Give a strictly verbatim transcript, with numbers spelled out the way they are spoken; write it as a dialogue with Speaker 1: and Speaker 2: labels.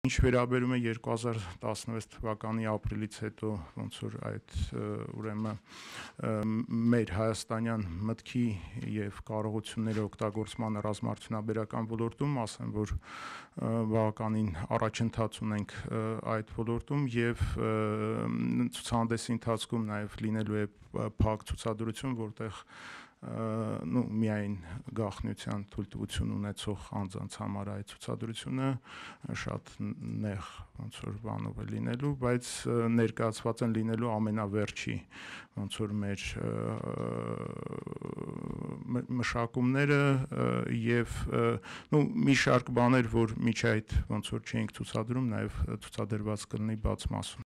Speaker 1: Ինչ վերաբերում է երկու հազար տասնվեց թվականի ապրիլից հետո ոնց որ այդ ուրեմն մեր հայաստանյան մտքի եւ կարողությունների օգտագործման ռազմարտունաբերական ոլորտում, ասեմ, որ բավականին առաջընթաց ունենք այդ ոլորտում եւ ցուցահանդեսի ընթացքում նաեւ լինելու է փակ ցուցադրություն, որտեղ նու միայն գաղտնիության թույլտվություն ունեցող անձանց համար այդ ցուցադրությունը շատ նեղ ոնց որ բանով է լինելու, բայց ներկայացված են լինելու ամենավերջի ոնց որ մեր մշակումները եւ նու մի շարք բաներ, որ միջ այդ ոնց որ չենք ցուցադրում, նաեւ ցուցադրված կլինի բաց մասում։